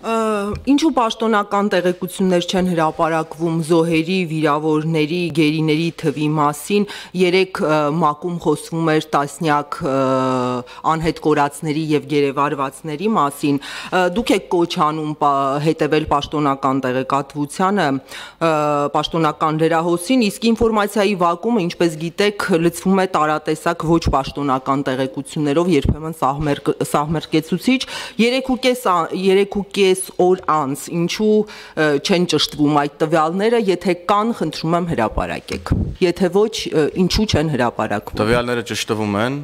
Ինչու պաշտոնական տեղեկություններ չեն հրապարակվում զոհերի, վիրավորների, գերիների թվի մասին, երեկ ՄԱԿ-ում խոսվում էր տասնյակ անհետ կորածների եւ գերեվարվածների մասին, դուք եք կոչ անում հետևել պաշտոնական տեղեկատվությանը, պաշտոնական լրահոսին, իսկ ինֆորմացիայի վակումը, ինչպես գիտեք, լցվում է տարատեսակ ոչ պաշտոնական տեղեկություններով, երբեմն սահմերկեցուցիչ, 3.5 օր անց, ինչու չեն ճշտվում այդ տվյալները, եթե կան, խնդրում եմ հրապարակեք, եթե ոչ, ինչու չեն հրապարակվում։ Տվյալները ճշտվում են,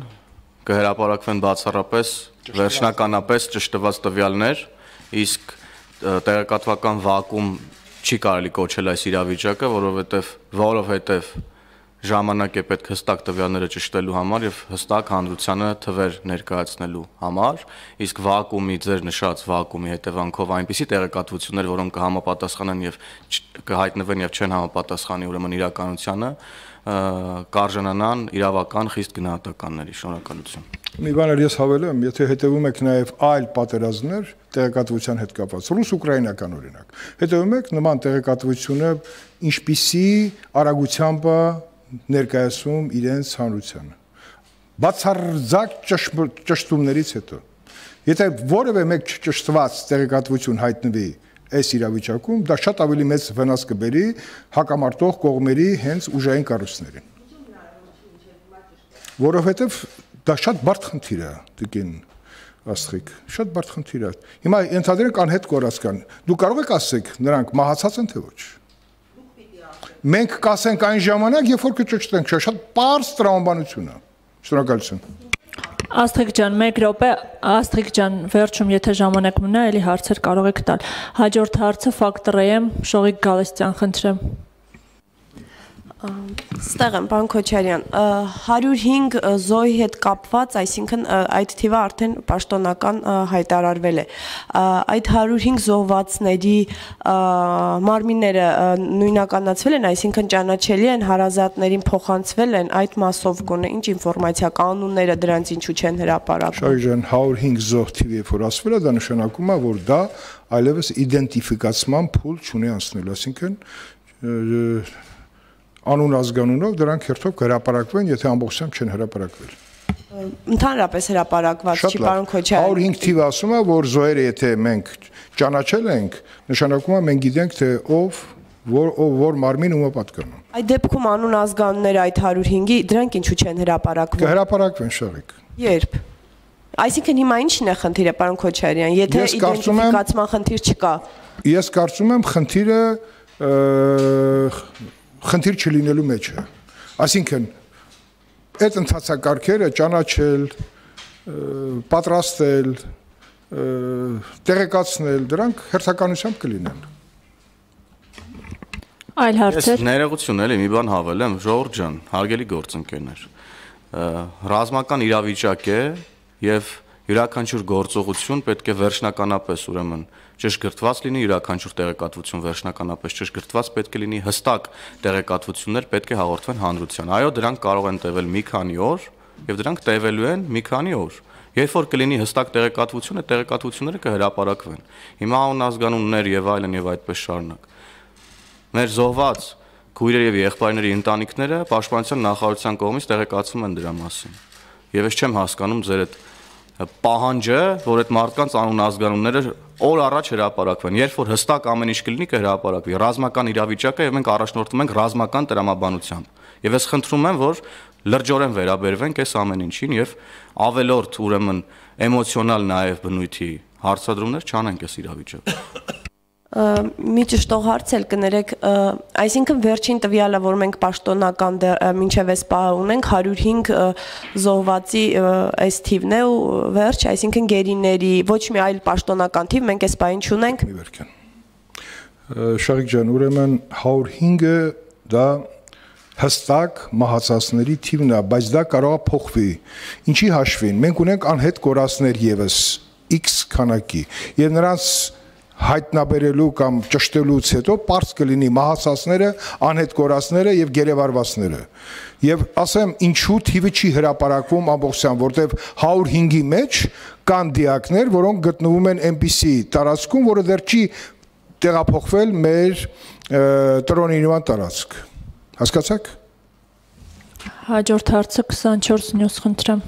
կհրապարակվեն բացառապես, վերջնականապես ճշտված տվյալներ, իսկ տեղեկատվական վակուում չի կարելի կոչել այս իրավիճակը, որովհետև ժամանակ է պետք հստակ տվյալները ճշտելու համար եւ հստակ հանրությանը թվեր ներկայացնելու համար, իսկ վակուումի ձեր նշած վակուումի հետևանքով այնպիսի տեղեկատվություններ, որոնք կհամապատասխանեն եւ կհայտնվեն եւ չեն համապատասխանի ուրեմն իրականությանը, կարժանանան իրավական խիստ գնահատականների։ Շնորհակալություն։ Մի բան էլ ես հավելեմ, եթե հետևում եք նաեւ այլ պատերազմներ տեղեկատվության հետ կապված, ռուս-ուկրաինական օրինակ, հետևում եք նման տեղեկատվությունը ինչպիսի արագությամբ ներկայացում իրենց հանրությանը։ Բացարձակ ճշտումներից հետո, եթե որևէ մեկ չճշտված տեղեկատվություն հայտնվի այս իրավիճակում, դա շատ ավելի մեծ վնաս կբերի հակամարտող կողմերի հենց ուժային կառույցներին։ Որովհետև դա շատ բարդ խնդիր է, տիկին Աստղիկ, շատ բարդ խնդիր է։ Հիմա ենթադրենք անհետ կորած կան։ Դուք կարող եք ասեք, նրանք մահացած են թե ոչ։ Մենք կասենք այն ժամանակ, երբ որ կճշտենք, շատ պարզ տրամաբանություն է։ Շնորհակալություն։ Աստղիկ ջան, 1 րոպե, Աստղիկ ջան, վերջում եթե ժամանակ մնա, էլի հարցեր կարող եք տալ։ Հաջորդ հարցը ֆակտոր եմ, Շողիկ Գալստյան, խնդրեմ։ Ստեղ եմ, պարոն Քոչարյան, 105 զոհի հետ կապված, այսինքն այդ թիվը արդեն պաշտոնական հայտարարվել է։ Այդ 105 զոհվածների մարմինները նույնականացվել են, այսինքն ճանաչելի են, հարազատներին փոխանցվել են, այդ մասով գոնե ինչ ինֆորմացիա, կանոնները դրանց ինչու չեն հրապարակվում։ Շարի ջան, 105 զոհ թիվի երբ որ ասվել է, դա նշանակում է, որ դա այլևս իդենտիֆիկացման փուլ չունի անցնելու, այսինքն անուն ազգանունով դրանք հերթով կհրապարակվեն, եթե ամբողջությամբ չեն հրապարակվել։ Ընդհանրապես հրապարակված չի, պարոն Քոչարյան։ 105 թիվը ասում է, որ զոհերը եթե մենք ճանաչել ենք, նշանակում է մենք գիտենք, թե ով որ մարմին ումը պատկանում։ Այդ դեպքում անուն ազգանունները այդ 105-ի դրանք ինչու չեն հրապարակվում։ Կհրապարակվեն, Շաղիկ։ Երբ։ Այսինքն հիմա ի՞նչն է խնդիրը, պարոն Քոչարյան, եթե իդենտիֆիկացման խնդիր չկա։ Ես կարծում եմ խնդիր չլինելու մեջ է։ Այսինքն այդ ընթացակարգերը ճանաչել, պատրաստել, տեղեկացնել, դրանք հերթականությամբ կլինեն։ Այլ հարցեր։ Ես ներողություն էլի մի բան հավելեմ, Ժողովուրդ ջան, հարգելի գործընկերներ, ռազմական իրավիճակ է եւ յուրաքանչյուր գործողություն պետք է վերջնականապես ուրեմն ճշգրտված լինի, յուրաքանչյուր տեղեկատվություն վերջնականապես ճշգրտված պետք է լինի, հստակ տեղեկատվություններ պետք է հաղորդվեն հանրության։ Այո, դրանք կարող են տևել մի քանի օր եւ դրանք տևելու են մի քանի օր։ Երբ որ կլինի հստակ տեղեկատվությունը, տեղեկատվությունները կհրապարակվեն։ Հիմա անուն ազգանուններ եւ այլն եւ այդպես շարունակ։ Մեր զոհված քույրեր եւ եղբայրների ընտանիքները պաշտպանության նախարարության կողմից տեղեկացվում են դրա մասին։ Եվ ես չեմ հասկանում ձեր այդ պահանջը, որ այդ մարդկանց անուն ազգանունները օր առաջ հրապարակվեն, երբ որ հստակ ամեն ինչ կլինի կհրապարակվի, ռազմական իրավիճակը եւ մենք առաջնորդվում ենք ռազմական տրամաբանությամբ։ Եվ ես խնդրում եմ, որ լրջորեն վերաբերվենք այս ամեն ինչին եւ ավելորդ ուրեմն էմոցիոնալ նաեւ բնույթի հարցադրումներ չանենք այս իրավիճակում։ Մի ճշտող հարց էլ կներեք, այսինքն վերջին տվյալը, որ մենք պաշտոնական մինչև այս պահը ունենք, 105 զոհվածի այս թիվն է ու վերջ, այսինքն գերիների, ոչ մի այլ պաշտոնական թիվ մենք այս պահին չունենք։ Շարիկ ջան, ուրեմն 105-ը դա հստակ մահացածների թիվն է, բայց դա կարող է փոխվի։ Ինչի հաշվին, մենք ունենք անհետ կորածներ եւս X քանակի եւ նրանց հայտնաբերելու կամ ճշտելուց հետո պարզ կլինի մահացածները, անհետ կորածները եւ գերեվարվածները։ Եվ ասեմ, ինչու թիվը չի հրապարակվում ամբողջությամբ, որտեվ 105-ի մեջ կան դիակներ, որոնք գտնվում են այնպիսի տարածքում, որը դեռ չի տեղափոխվել մեր տրոնի նման տարածք։ Հասկացաք։ Հաջորդ հարցը 24 նյուս խնդրեմ։